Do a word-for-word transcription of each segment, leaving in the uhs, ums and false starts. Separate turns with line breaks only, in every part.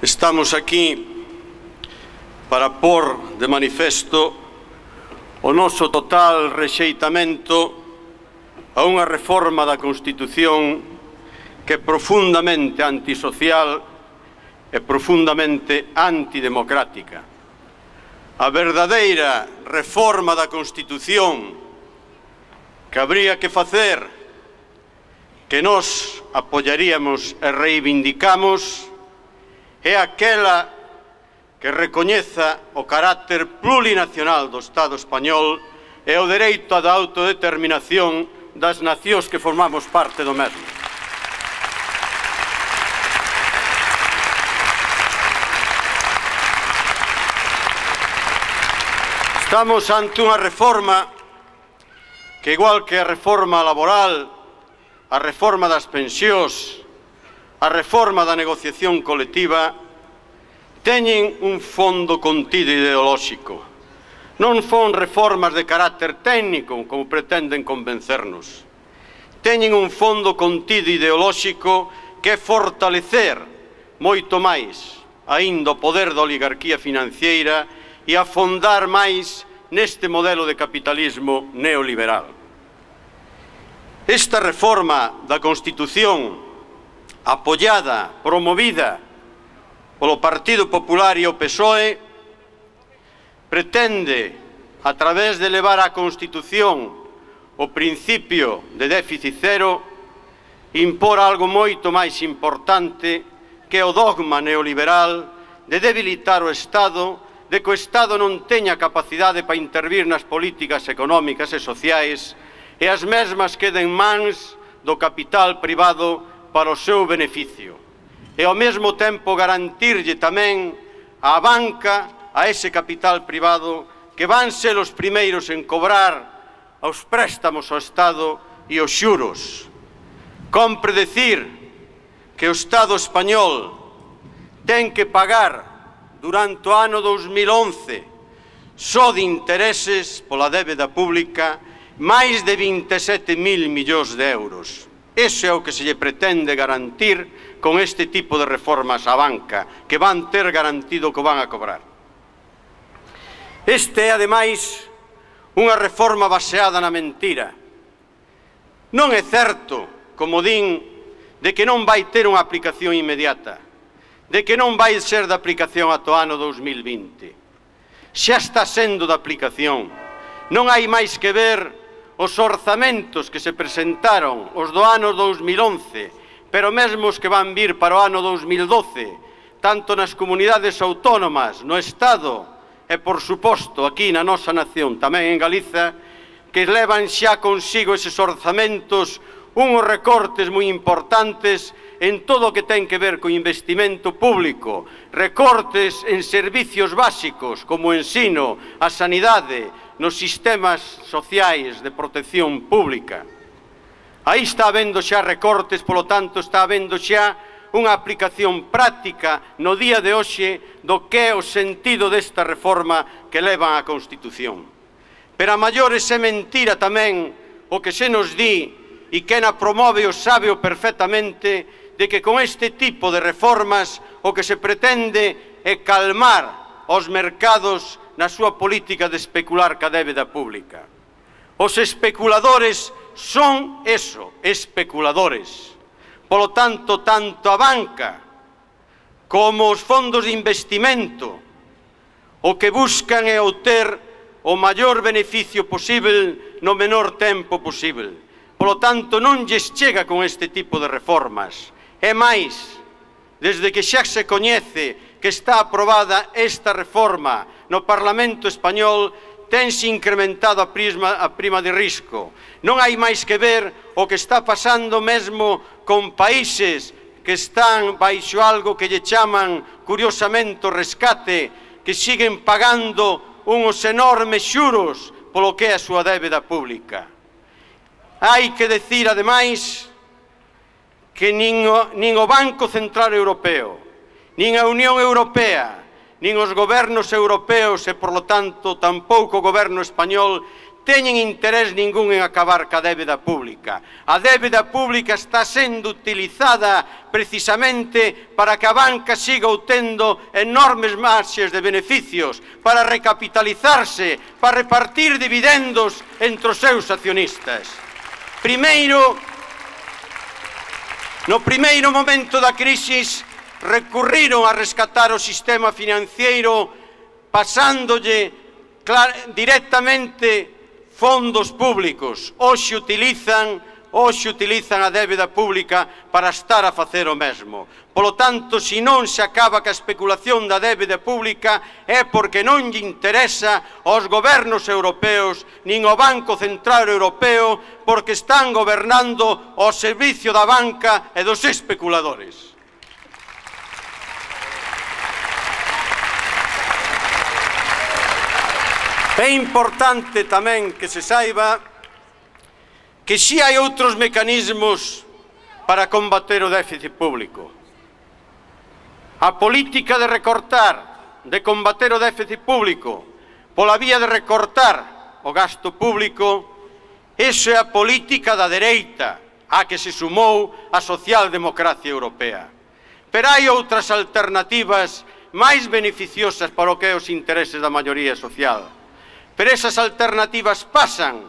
Estamos aquí para pôr de manifesto o noso total rexeitamento a unha reforma da Constitución que é profundamente antisocial e profundamente antidemocrática. A verdadeira reforma da Constitución que habría que facer, que nós apoiaríamos e reivindicamos, é aquela que recoñeza o carácter plurinacional do Estado español e o dereito á autodeterminación das nacións que formamos parte do mesmo. Estamos ante unha reforma que, igual que a reforma laboral, a reforma das pensións, a reforma da negociación colectiva, teñen un fondo contido ideolóxico. Non son reformas de carácter técnico, como pretenden convencernos. Teñen un fondo contido ideolóxico que é fortalecer moito máis aínda o poder da oligarquía financiera e afondar máis neste modelo de capitalismo neoliberal. Esta reforma da Constitución, apoiada, promovida polo Partido Popular e o P S O E, pretende, a través de levar á Constitución o principio de déficit cero, impor algo moito máis importante que o dogma neoliberal de debilitar o Estado, de que o Estado non teña capacidade para intervir nas políticas económicas e sociais e as mesmas queden mans do capital privado para o seu beneficio. E ao mesmo tempo garantirlle tamén á banca, a ese capital privado, que van ser os primeiros en cobrar os préstamos ao Estado e os xuros. Compre decir que o Estado español ten que pagar durante o ano dos mil once só de intereses pola débeda pública máis de vinte e sete mil millóns de euros. Iso é o que se lle pretende garantir con este tipo de reformas á banca, que van ter garantido que van a cobrar. Este é, ademais, unha reforma baseada na mentira. Non é certo, como din, de que non vai ter unha aplicación inmediata, de que non vai ser de aplicación ata o ano dos mil vinte. Xa está sendo de aplicación. Non hai máis que ver os orzamentos que se presentaron os do ano dos mil once, pero mesmo os que van vir para o ano dos mil doce, tanto nas comunidades autónomas, no Estado e, por suposto, aquí na nosa nación, tamén en Galiza, que levan xa consigo eses orzamentos unhos recortes moi importantes en todo o que ten que ver co investimento público, recortes en servicios básicos como o ensino, a sanidade, nos sistemas sociais de protección pública. Aí está habendo xa recortes, polo tanto está habendo xa unha aplicación práctica no día de hoxe do que é o sentido desta reforma que levan á Constitución. Pero a maiores é mentira tamén o que se nos di, e quen a promove o sabe o perfectamente, de que con este tipo de reformas o que se pretende é calmar os mercados na súa política de especular ca débeda pública. Os especuladores son eso, especuladores. Polo tanto, tanto a banca como os fondos de investimento o que buscan é obter o maior beneficio posible no menor tempo posible. Polo tanto, non lles chega con este tipo de reformas. É máis, desde que xa se coñece que está aprobada esta reforma no Parlamento español, tense incrementado a prima, a prima de risco. Non hai máis que ver o que está pasando mesmo con países que están baixo algo que lle chaman curiosamente o rescate, que siguen pagando uns enormes xuros polo que é a súa débeda pública. Hai que decir, ademais, que nin o, nin o Banco Central Europeo, nin a Unión Europea, nin os gobernos europeos e, por lo tanto, tampouco o goberno español teñen interés ningún en acabar ca débeda pública. A débeda pública está sendo utilizada precisamente para que a banca siga obtendo enormes marxes de beneficios, para recapitalizarse, para repartir dividendos entre os seus accionistas. Primeiro, no primeiro momento da crisis, recurriron a rescatar o sistema financiero pasándolle directamente fondos públicos. Hoxe utilizan, hoxe utilizan a débeda pública para estar a facer o mesmo. Polo tanto, se non se acaba ca especulación da débeda pública é porque non lle interesa aos gobernos europeos nin ao Banco Central Europeo, porque están gobernando ao servicio da banca e dos especuladores. É importante tamén que se saiba que si hai outros mecanismos para combater o déficit público. A política de recortar, de combater o déficit público, pola vía de recortar o gasto público, iso é a política da dereita, a que se sumou a socialdemocracia europea. Pero hai outras alternativas máis beneficiosas para o que é os intereses da maioría social. Pero esas alternativas pasan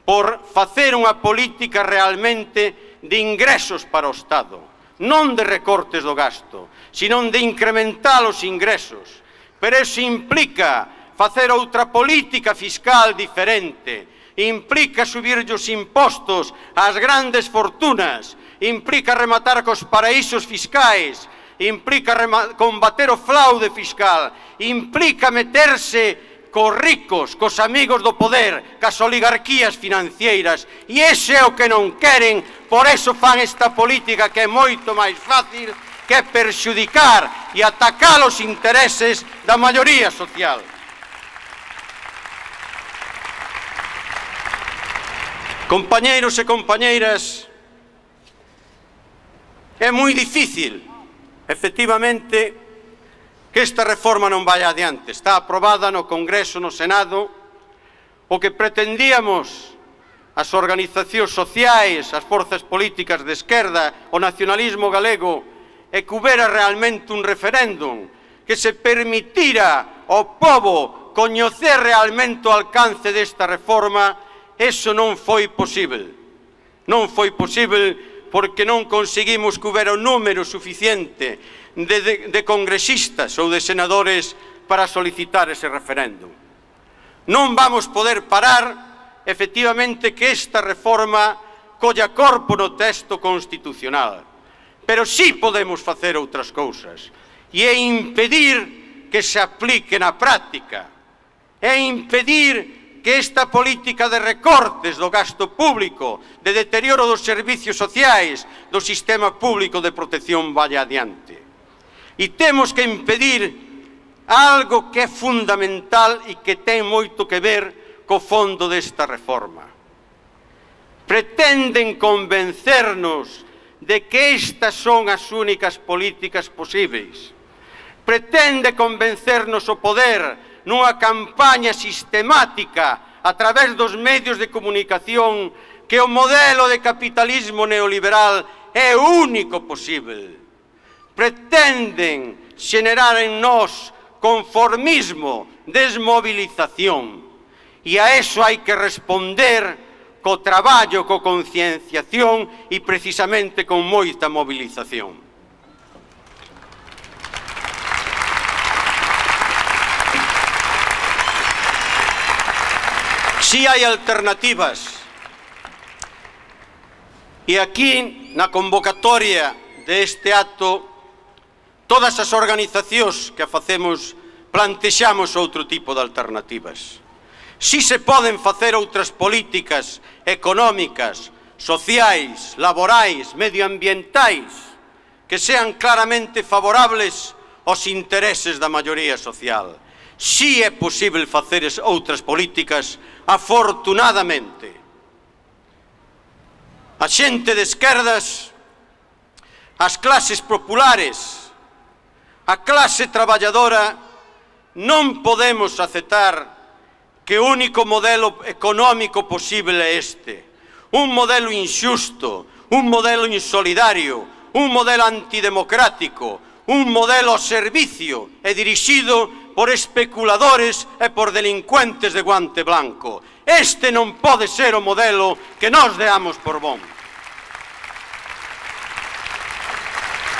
por facer unha política realmente de ingresos para o Estado, non de recortes do gasto, senón de incrementar os ingresos. Pero iso implica facer outra política fiscal diferente, implica subir os impostos ás grandes fortunas, implica rematar cos paraísos fiscais, implica combater o fraude fiscal, implica meterse cos ricos, cos amigos do poder, cas oligarquías financeiras, e ese é o que non queren, por eso fan esta política que é moito máis fácil, que é perxudicar e atacar os intereses da maioría social. Compañeiros e compañeiras, é moi difícil, efectivamente, que esta reforma non vai adiante. Está aprobada no Congreso, no Senado. O que pretendíamos as organizacións sociais, as forzas políticas de esquerda, o nacionalismo galego, é que houbera realmente un referéndum que se permitira ao pobo coñecer realmente o alcance desta reforma. Eso non foi posible. Non foi posible porque non conseguimos que houbera un número suficiente De, de, de congresistas ou de senadores para solicitar ese referéndum. Non vamos poder parar, efectivamente, que esta reforma colla corpo no texto constitucional, pero sí podemos facer outras cousas, e é impedir que se aplique na práctica, é impedir que esta política de recortes do gasto público, de deterioro dos servicios sociais, do sistema público de protección vaya adiante. E temos que impedir algo que é fundamental e que ten moito que ver co fondo desta reforma. Pretenden convencernos de que estas son as únicas políticas posíveis. Pretende convencernos o poder nunha campaña sistemática a través dos medios de comunicación que o modelo de capitalismo neoliberal é o único posible. Pretenden xenerar en nós conformismo, desmovilización. E a eso hai que responder co traballo, co concienciación e precisamente con moita movilización. Si hai alternativas, e aquí na convocatoria deste acto todas as organizacións que a facemos plantexamos outro tipo de alternativas. Si se poden facer outras políticas económicas, sociais, laborais, medioambientais, que sean claramente favorables aos intereses da maioría social. Si é posible facer outras políticas, afortunadamente. A xente de esquerdas, as clases populares, a clase traballadora, non podemos aceptar que o único modelo económico posible é este. Un modelo injusto, un modelo insolidario, un modelo antidemocrático, un modelo ao servicio e dirixido por especuladores e por delincuentes de guante blanco. Este non pode ser o modelo que nós deamos por bon.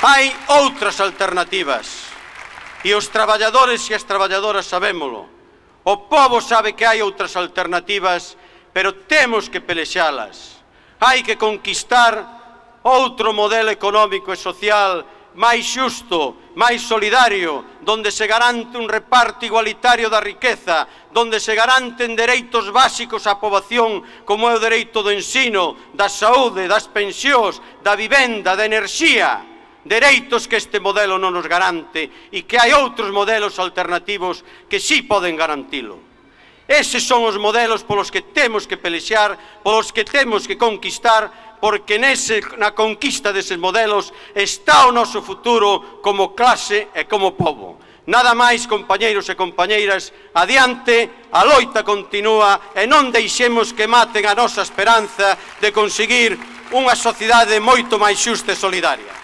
Hai outras alternativas e os traballadores e as traballadoras sabémolo. O pobo sabe que hai outras alternativas, pero temos que pelexalas. Hai que conquistar outro modelo económico e social máis xusto, máis solidario, donde se garante un reparto igualitario da riqueza, donde se garanten dereitos básicos á poboación como é o dereito do ensino, da saúde, das pensións, da vivenda, da enerxía, dereitos que este modelo non nos garante e que hai outros modelos alternativos que sí poden garantilo. Eses son os modelos polos que temos que pelexar, polos que temos que conquistar, porque nese, na conquista deses modelos está o noso futuro como clase e como pobo. Nada máis, compañeiros e compañeiras, adiante, a loita continúa e non deixemos que maten a nosa esperanza de conseguir unha sociedade moito máis xusta e solidaria.